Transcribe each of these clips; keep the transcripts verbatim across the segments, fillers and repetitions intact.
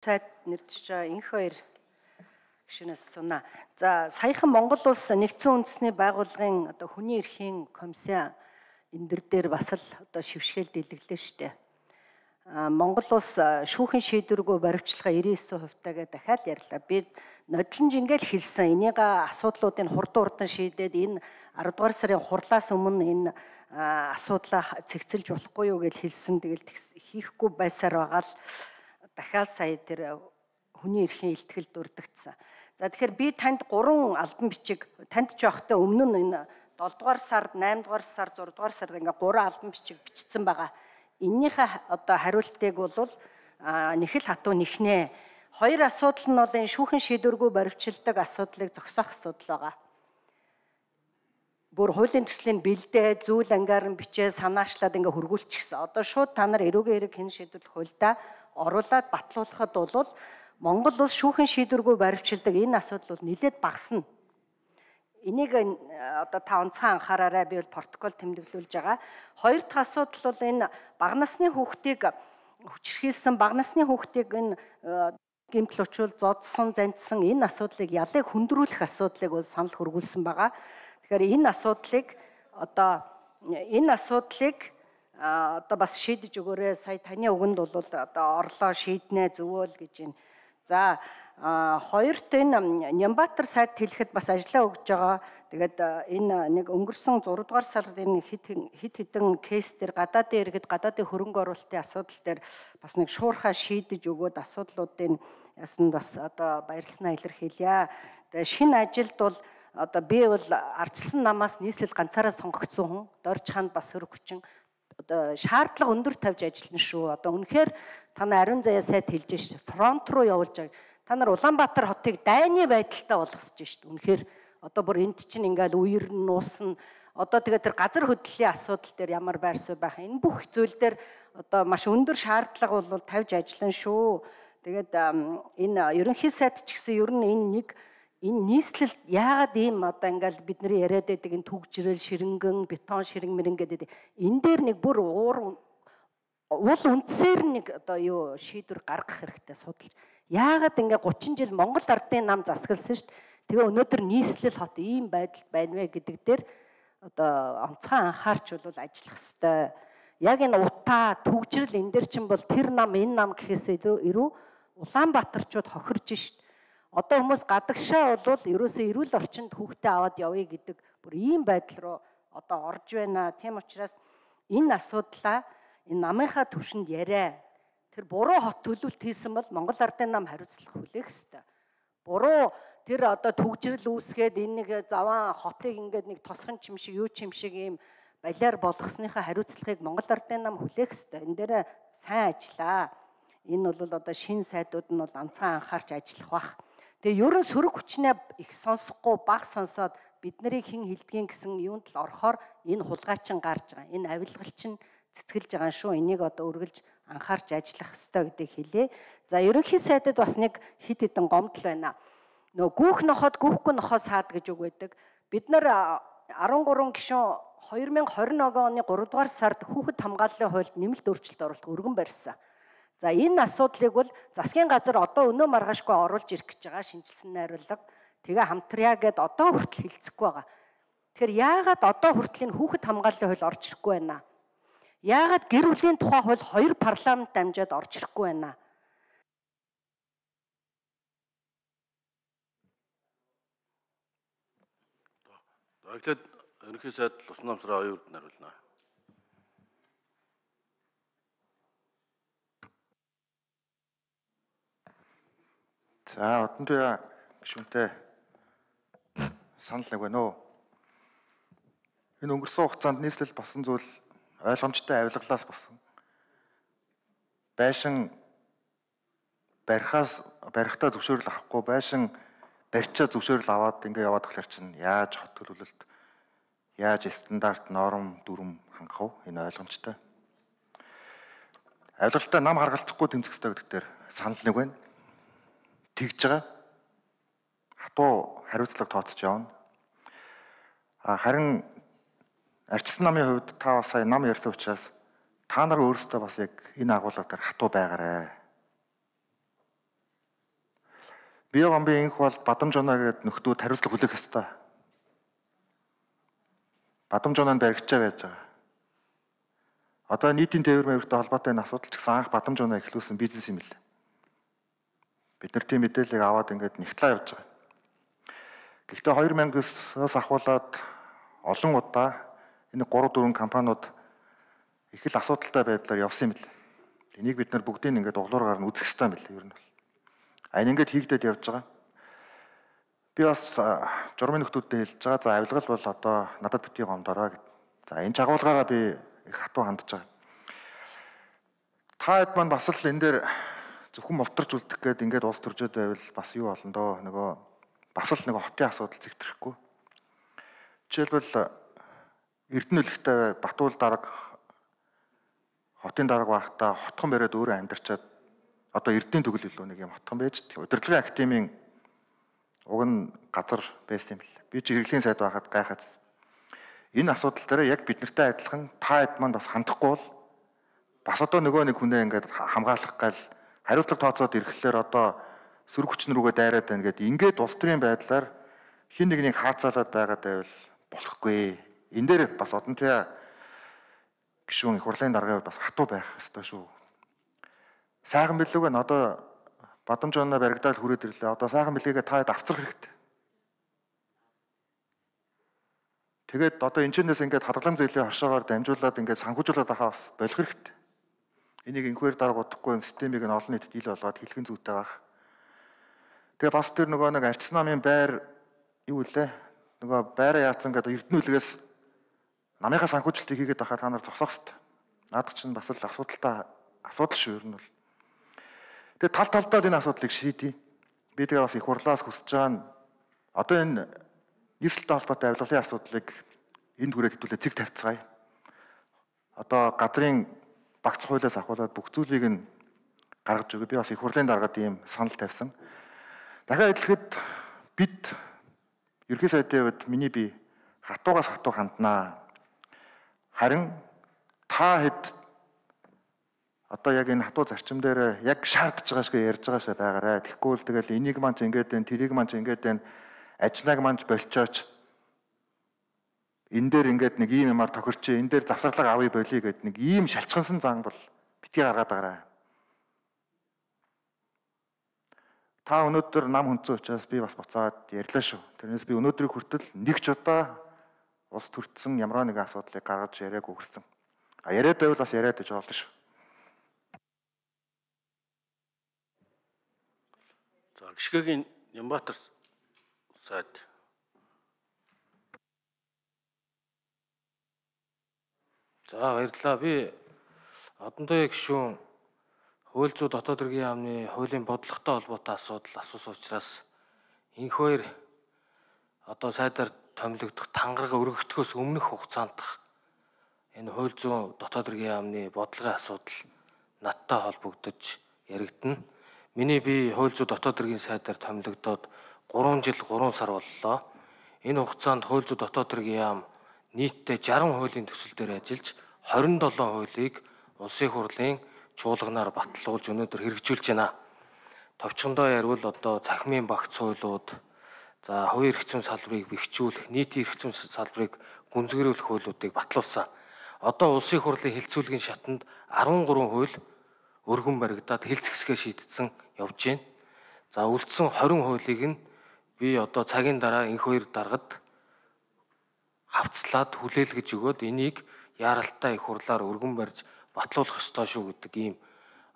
Сайд нэрдэж байгаа энх хоёр гишүүнээс сунаа. За саяхан Монгол улс нэгдсэн үндэсний байгууллагын одоо хүний эрхийн комиссийн эндэр дээр бас л одоо шившгээл дэлгэглээ штэ. А Монгол улс шүүхийн шийдвэргүй баривчлага девяносто девять хувьтайгээ дахиад ярьлаа. Би нодлон жингээл хэлсэн. Энийг асуудлуудыг хурдан хурдан шийдээд энэ аравдугаар сарын хурлаас өмнө энэ асуудлаа цэгцэлж болохгүй юу гэж хэлсэн. Тэгэл хийхгүй байсаар байгаа л дахиад сая тэр хүний эрхийн илтгэл дурдгдсан. За тэгэхээр би танд гурван албан бичиг танд ч явахтай өмнө нь энэ долдугаар сард, наймдугаар сард, зурдугаар сард ингээ гурван албан бичиг бичсэн байгаа. Эннийхээ одоо хариултыг бол нэхэл хатуу нэхнэ. Хоёр асуудал нь бол энэ шүүхэн шийдвэргүй баривчилдаг асуудлыг зогсоох асуудал байгаа. Бүр хуулийн төслийн бэлдээ зүйл ангаар нь бичээ санаачлаад ингээ хөргүүлчихсэн. Одоо шууд та нар эрүүгийн хэрэг хэн шийдвэрлэх хуульдаа оруулаад батлуулахад бол Монгол улс шүүхэн шийдвэргүй баривчилдаг энэ асуудал бол нэлээд багасна. Энийг одоо та онцгой анхаараарай, би бол протокол тэмдэглүүлж байгаа. Хоёр дахь асуудал бол энэ бага насны хүүхдийг хүчирхийлсэн, бага насны хүүхдийг энэ гэмтэл учруул зодсон, занцсан энэ асуудлыг ялыг хөндрүүлэх асуудлыг бол санал хөргүүлсэн байгаа. Тэгэхээр энэ асуудлыг одоо энэ асуудлыг одоо бас шийдэж өгөөрэй. Сая таны үгэнд бол одоо орлоо шийднэ зөвөөл гэж байна. За хоёрт энэ Нямбатар сайд хэлэхэд бас ажиллаа өгж байгаа. Тэгээд энэ нэг өнгөрсөн зураг дугаар сард энэ хит хит хитэн кейс дээр гадаадын иргэд гадаадын хөрөнгө оруулалтын асуудал дээр бас нэг шуурхаа шийдэж өгөөд асуудлуудын ясанд бас одоо баярлснаа илэрхийлье. Тэгээд шинэ ажилд бол одоо би бол ардчилсан намаас нийслэл ганцаараа сонгогдсон хүн, Дорж хаанд бас хөрөг хүчин одоо шаардлага өндөр тавьж ажиллана шүү. Одоо үнэхээр та нар ариун заяа сайд хэлж ш. Фронт руу явуулж байгаа. Та нар Улаанбаатар хотыг дайны байдалтай болгосож ш. Үнэхээр одоо бүр энд чинь ингээл үер нь нуусна. Одоо тэгээд тэр газар хөдлөлийн асуудал дээр ямар байр суурь байх. Энэ бүх зүйл дээр одоо маш өндөр шаардлага бол тавьж ажиллана шүү. Тэгээд энэ ерөнхий сайд ч гэсэн ер нь энэ нэг энэ нийслэл яагаад ийм одоо ингээл бидний яриад байдаг энэ түгжрэл ширэнгэн бетон ширэн мэрэн гэдэг энэ дээр нэг бүр уур уул үндсээр нэг одоо юу шийдвэр гаргах хэрэгтэй судалж. Яагаад ингээ гучин жил Монгол ардын нам засагласан шүү дээ. Тэгээ өнөөдөр нийслэл хот ийм байдал байна вэ гэдэг дээр одоо онцгой анхаарч бол ажиллах хэрэгтэй. Яг энэ утаа түгжрэл энэ дээр чинь бол тэр нам энэ нам гэхээс ирүү Улаанбаатарчууд хохирж шүү дээ. Одоо хүмүүс гадагшаа бол ерөөсөө эрүүл орчинд хүүхдээ аваад явъя гэдэг бүр ийм байдал руу одоо орж байна. Тийм учраас энэ асуудлаа энэ намынхаа түвшинд яриа. Тэр буруу хот төлөвлөлт хийсэн бол Монгол ардын нам хариуцлах хүлээх ёстой. Буруу тэр одоо түгжрэл үүсгээд энэ нэг заван хотыг ингээд нэг тосхон чим шиг юу чим шиг ийм балиар болгосныхаа хариуцлагыг Монгол ардын нам хүлээх ёстой. Энэ дээр сайн ажиллаа. Энэ бол одоо шинэ сайдууд нь бол онцгой анхаарч ажиллах бах. Тэгээ ерөн сөрөг хүчнээ их сонсохгүй баг сонсоод бид нарыг хэн хилдгийн гэсэн юунд л орохоор энэ хулгайчин гарч байгаа. Энэ авилгалчин цэцгэлж байгаа шүү. Энийг одоо үргэлж анхаарч ажиллах ёстой гэдгийг хэлээ. За ерөнхий сайдад бас нэг хит хитэн гомдол байна. Нөгөө гүүх нохоод гүүхгүй нохоо саад гэж үг байдаг. Бид нар арван гурван гишүүн хоёр мянга хорин оны гуравдугаар сард хүүхэд хамгааллын хуульд нэмэлт өөрчлөлт оруулах өргөн барьсан. За энэ асуудлыг бол засгийн газар одоо өнөө маргаашгүй оруулж ирэх гэж байгаа шинжилсэн найруулга. Тэгээ хамтрая гэд одоо хүртэл хэлцэхгүй байгаа. Тэгэхээр яагаад одоо хүртэл энэ хүүхэд хамгааллын хууль орж ирэхгүй байна? Яагаад гэр бүлийн тухай хууль хоёр парламент дамжаад орж ирэхгүй байна? Баярлалаа. Ерөнхий сайд Лус Намсраа оюун урд хариулна. За одон туяа гишүүнтэй санал нэг байна уу? Энэ өнгөрсөн хугацаанд нийслэл басан зүйл ойлгомжтой авилгалаас басан. Байшин барихаас барихтаа зөвшөөрөл авахгүй байшин барьчаа зөвшөөрөл аваад ингээ яваад тахлаар чинь яаж хот төлөвлөлт яаж стандарт норм дүрм хангах вэ? Энэ ойлгомжтой. Авилгалтай нам харгалзахгүй тэмцэх ёстой гэдэг дээр санал нэг байна. Тэгж байгаа. Хатуу хариуцлага тооцож явна. А харин арчилсан намын хувьд та бас сая нам ярьсан учраас та нар өөрсдөө бас яг энэ агуулга дээр хатуу байгаарэ. Биогомбын инх бол Бадамж оноо гэдэг нөхдүүд хариуцлага хүлээх ёстой. Бадамж оноонд баригчаа байж байгаа. Одоо нийтийн тээвэр мэвэртэй холбоотой энэ асуудал ч гэсэн анх Бадамж оноо эхлүүлсэн бизнес юм л. Бид нар тийм мэдээллийг аваад ингээд нэгтлээ явж байгаа. Гэхдээ хоёр мянгаас ахуулаад олон удаа энэ гурав дөрвөн компаниуд их л асуудалтай байдлаар явсан юм л. Энийг бид нар бүгдийг ингээд углуугаар нь үзэх хэрэгтэй юм л ер нь бол. А энэ ингээд хийгдээд явж байгаа. Би бас журмын нөхдүүдтэй хэлж байгаа. За авилгал бол одоо надад битгий гомдороо гэд. За энэ жагуулгаараа би их хатуу хандж байгаа. Та хэд маань бас л энэ дээр зөвхөн молторч үлдэх гээд ингээд улс төржөөд байвал бас юу болно доо нөгөө бас л нөгөө хотын асуудал зэгтрэхгүй. Жишээлбэл Эрдэнэлхтэй Батуул дарга хотын дарга байхдаа хотхон бариад өөрөө амьдарчаад одоо Эрдэнийн төгөл илүү нэг юм хотхон байж удирдлагын академийн уг нь газар байсан юм л. Би чи хэрэглийн сайд байхад гайхаад. Энэ асуудал дээр яг бид нартай адилхан та хэд маань бас хандахгүй бол бас одоо нөгөө нэг хүнээ ингээд хамгаалах гал хариуцлага тооцоод ирэхлээр одоо сөрөг хүчин рүүгээ дайраад байна гэдэг ингээд улс төрийн байдлаар хин нэгнийг хаацаалаад байгаад байвал болохгүй. Энэ дээр бас одон туяа гишүүн их хурлын даргын бас хатуу байх ёстой шүү. Сайхан билүүг нь одоо Бадамж оноо баригдаад хүрээд ирлээ. Одоо сайхан билгээгээ та хэд авцрах хэрэгтэй. Тэгээд одоо энэчнээс ингээд хадгалам зээлийн хошоогоор дамжуулаад ингээд санхүүжүүлээд байхаа бас болох хэрэгтэй. Энийг инхвэр дарга удахгүй системийг нь олон нийтэд ил болгоод хэлхэн зүйтэй байх. Тэгээ бас тэр нөгөө нэг арчс намын байр юу вэ? Нөгөө байраа яатсан гэдэг Эрдэнэлгээс намынхаа санхүүжилтийг хийгээд байхад та нар зогсоох хэрэгтэй. Наадах чинь бас л асуудалтай асуудал шүү ер нь бол. Тэгээ тал талдаа энэ асуудлыг шийдье. Би тэгээ бас их хурлаас хүсэж байгаа нь одоо энэ нийслэлтэй холбоотой авилгалын асуудлыг энд хүрээд хэвлээ цэг тавьцгаая. Одоо газрын багц хуулиас ахуулаад бүх зүйлийг нь гаргаж өгөө. Би бас их хурлын даргаад ийм санал тавьсан. Дахиад хэлэхэд бид ерхий сайдын хувьд миний би хатуугаас хатуу ханднаа. Харин та хэд одоо яг энэ хатуу зарчим дээр яг шаардж байгаа шиг ярьж байгаа шээ байгаарай. Тэгэхгүй л тэгэл энийг маань ч ингээд байна, тэрийг маань ч ингээд байна. Ажнаг маань ч болчооч. Энэ дээр ингээд нэг ийм юмар тохирч, энэ дээр завсарлага авъя болиё гэд нэг ийм шалчгансан зан бол битгий гаргаад байгаарай. Та өнөөдөр нам хүнцэн учраас би бас буцаад ярьлаа шүү. Тэрнээс би өнөөдрийг хүртэл нэг ч удаа улс төртсөн ямар нэгэн асуудлыг гаргаж яриаг өгсөн. А яриад байвал бас яриад гэж болно шүү. За гიშгэгийн Нямбатар сайд. За баярлалаа. Би одондоо гишүүн хууль зүйн дотоод хэргийн яамны хуулийн бодлоготой холбоотой асуудал асуусан учраас энх хоёр одоо сайдаар томилогдох тангараг өргөгдөхөөс өмнөх хугацаандх энэ хууль зүйн дотоод хэргийн яамны бодлогын асуудал надтай холбогдож яригдана. Миний би хууль зүйн дотоод хэргийн сайдаар томилогдоод гурван жил гурван сар боллоо. Энэ хугацаанд хууль зүйн дотоод хэргийн яам нийтдээ жарган хуулийн төсөл дээр ажиллаж хорин долоо хуулийг улсын хурлын чуулганаар баталуулж өнөөдөр хэрэгжүүлж байна. Товчхондоо ярил одоо цахимын багц хуулиуд, за хувийн эрх зүйн салбарыг бэхжүүлэх, нийтийн эрх зүйн салбарыг гүнзгийрүүлэх хуулиудыг батлуулсан. Одоо улсын хурлын хэлцүүлгийн шатанд арван гурван хууль өргөн баригдаад хэлцэхсгээ шийдсэн явж байна. За үлдсэн хорин хуулийг нь би одоо цагийн дараа энх хоёр даргад хавцлаад хүлээлгэж өгөөд энийг яаралтай их хурлаар өргөн барьж батлуулах ёстой шүү гэдэг ийм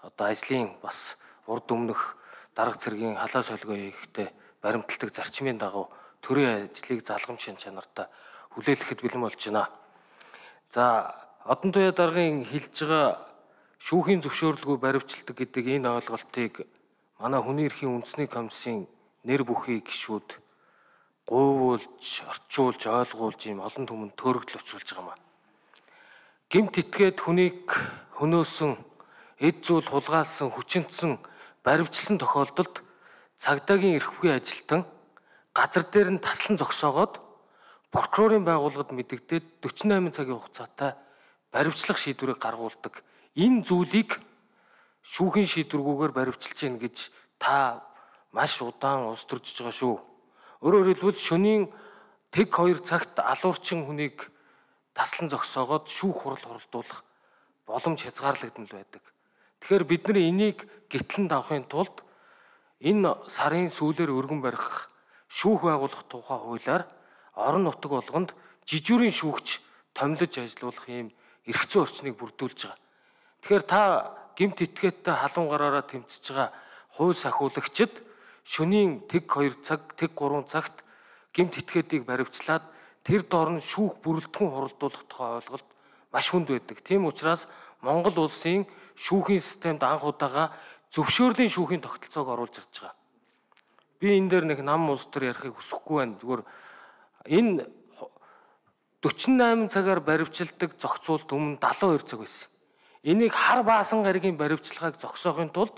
одоо ажлын бас урд өмнөх дарга цэргийн халаа солгоо хийхдээ баримталдаг зарчмын дагуу төрийн ажлыг залгамж шин чанартай хүлээлгэхэд бэлэн болж байна. За одон туяа даргын хэлж байгаа шүүхийн зөвшөөрлгүй баривчилдаг гэдэг энэ ойлголтыг манай хүний эрхийн үндэсний комиссийн нэр бүхий гишүүд гуйвуулж, орчуулж, ойлгуулж ийм олон түмэнд төөрөгдөл учруулж байгаа юм. Гэмт итгээд хүнийг хөнөөсөн, эд зүйл хулгайлсан, хүчинтсэн, баривчилсан тохиолдолд цагдаагийн эрхвгүй ажилтан газар дээр нь таслан зогсоогоод прокурорын байгууллагад мэдэгдээд дөрвөн найман цагийн хугацаатай баривчлах шийдвэрийг гаргуулдаг. Энэ зүйлийг шүүхийн шийдвэргүйгээр баривчилж гин гэж та маш удаан улс төржиж байгаа шүү. Өөрөөр хэлбэл шөнийн тэг хоёр цагт алуурчин хүнийг таслан зогсоогоод шүүх хурал хуралдуулах боломж хязгаарлагдсан л байдаг. Тэгэхээр бид нар энийг гитлэн давахын тулд энэ сарын сүүлээр өргөн барих шүүх байгуулах тухай хуулиар орон нутаг болгонд жижүүрийн шүүгч томилж ажиллуулах юм эрх зүйн орчныг бүрдүүлж байгаа. Тэгэхээр та гэмт этгээдтэй халуун гараараа тэмцэж байгаа хууль сахиулагчид шөнийн тэг хоёр цаг, тэг гурван цагт гэмт этгээдийг баривчлаад тэр доор нь шүүх бүрэлдэхүүн хуралдуулах тухай ойлголт маш хүнд байдаг. Тийм учраас Монгол улсын шүүхийн системд анх удаага зөвшөөрлийн шүүхийн тогтолцоог оруулж ирж байгаа. Би энэ дээр нэг нам улс төр ярихыг хүсэхгүй байна. Зүгээр энэ дөрвөн найман цагаар баривчилдаг зохицуулт өмнө дагалдаа хоёр цаг байсан. Энийг хар баасан гаригийн баривчилгааг зогсоохын тулд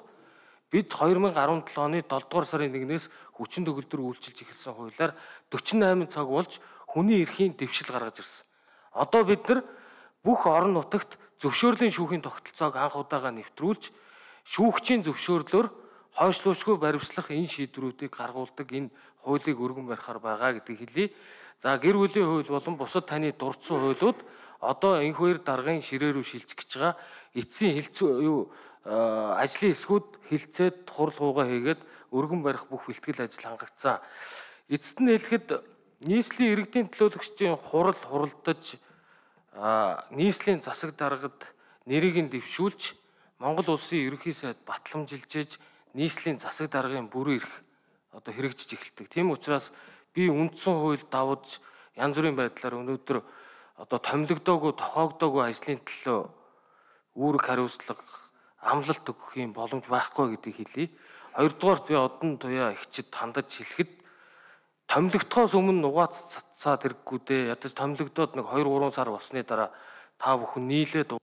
бид хоёр мың и гурван оны долдугаар сарын нэгнээс хүчин төгөлдөр үйлчилж эхэлсэн хуулиар дөрвөн найман цаг болж хүний эрхийн дэвшил гаргаж ирсэн. Одоо бид нар бүх орон нутагт зөвшөөрлийн шүүхийн тогтолцоог анх удаага нэвтрүүлж шүүгчийн зөвшөөрлөөр хойшлуушгүй баривчлах энэ шийдвэрүүдийг гаргуулдаг энэ хуулийг өргөн барихаар байгаа гэдгийг хэлье. За гэр бүлийн хууль болон бусад таны дурдсан хуулиуд одоо энэ хоёр даргын ширээ рүү шилжих гэж байгаа. Эцсийн хилцүү юу ажлын эсгүүд хилцээд хурал хуугаа хийгээд өргөн барих бүх бэлтгэл ажил хангагдсан. Эцэст нь хэлэхэд нийслэлийн иргэдийн төлөөлөгчдийн хурал хуралдаж нийслэлийн засаг даргад нэрийг нь дэвшүүлж Монгол улсын ерөнхий сайд батламжилжээж нийслэлийн засаг даргын бүрэн эрх одоо хэрэгжиж эхэлдэг. Тийм учраас би үндсэн хууль давж янз бүрийн байдлаар өнөөдөр одоо томилогдоогүй, тохиогдоогүй ажлын төлөө үүрэг хариуцлага амлалт өгөх юм боломж байхгүй гэдгийг хэлье. Хоёрдугаарт би одон туяа ихчид хандаж хэлэхэд томилогдохоос өмнө нугаац цацаад хэрэггүй дээ. Ядаж томилогдоод нэг хоёр гурван сар болсны дараа та бүхэн нийлээд